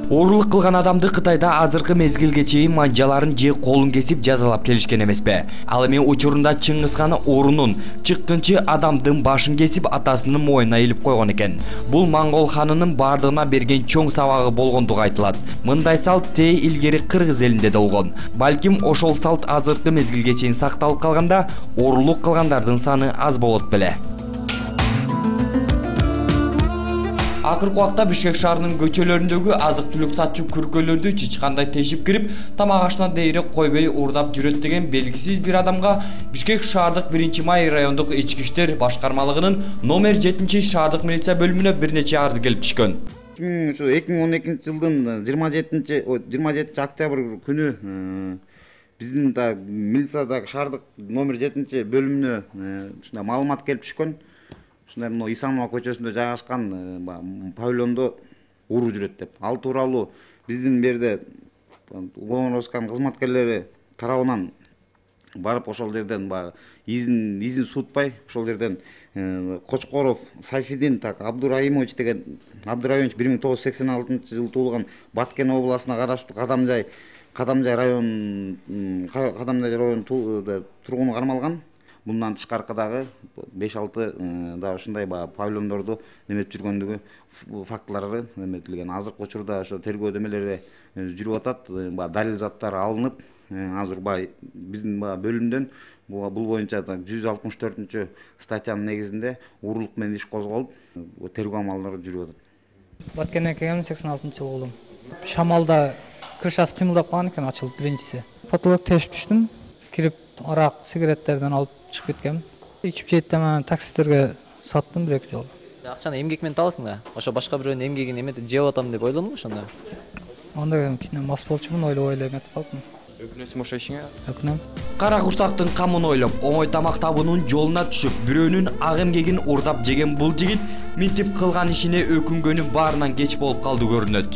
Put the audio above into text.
Оорулук кылган адамды Кытайда азыркы мезгилге чейин манжаларын же колун кесип жазалап келишкен эмеспи. Ал эми учурунда Чыңгызхан орунун чыккынчы адамдын башын кесип атасынын моюнуна илип койгон экен. Бул моңгол ханынын бардыгына берген чоң сабагы болгондугу айтылат. Мындай салт тээ илгери кыргыз элинде да болгон. Балким ошол салт азыркы мезгилге чейин сакталып калганда, оорулук кылгандардын саны аз болот беле. Акыркы убакта Бишкек шаарынын көчөлөрүндөгү азык-түлүк сатчу күркөлөрдү чычкандай тешип кирип, тамак ашына дейре койбой уурдап жүрөт деген белгисиз бир адамга Бишкек шаардык 1-май райондук ички иштер башкармалыгынын номер 7-шаардык милиция бөлүмүнө бир нече арыз келип түшкөн. 2012-жылдын 27 октябрь күнү биздин да милициядагы шаардык номер 7 бөлүмүнө ушундай маалымат келип түшкөн. Ушундай Исанова көчөсүндө жайгашкан павильондо уруу жүрөт деп. Ал тууралуу биздин берде уголовно-розысканын кызматкерлери тарабынан барып ошол жерден изин суутпай ошол жерден Кочкоров Сайфидин Абдурайымович деген 1986-жылы туулган Баткен областына караштуу Кадамжай район тургуну кармалган. Bundan тышкаркыдагы 5-6 да ушундай павильондорду неметип жүргөндүгү фактылары эметилген. Азыркы учурда ошо тергөө демелери жүрүп атат. Далил заттары алынып, азыр биздин бөлүмдөн бул боюнча 164 статьянын негизинде уурулук менен иш козголуп, тергөө амалдары жүрүп атат. Баткен экем 86-жылы болдум. Шамалда крышасы кыймылдап калган экен, ачылып биринчиси. Потолок тешип түштүм. Кирип арак, сигареттерден алып чыгып кеткем. Ичип жейт мен таксисттерге саттым 1-2 жолу. Акчаны эмгек менен табасың да? Ошо башка бирөөнүн эмгегин эметип жеп атам деп ойлонуңбу ошондо? Анда кичине мас болчумун, ойлоп эметип калдым. Өкүнөсүң ошо ишиңе? Өкүнөм. Кара курсактын камын ойлоп, оңой тамак табуунун жолуна түшүп, бирөөнүн ак эмгегин уурдап жеген бул жигит минтип кылган ишине өкүнгөнү баарынан кеч болуп калды көрүнөт.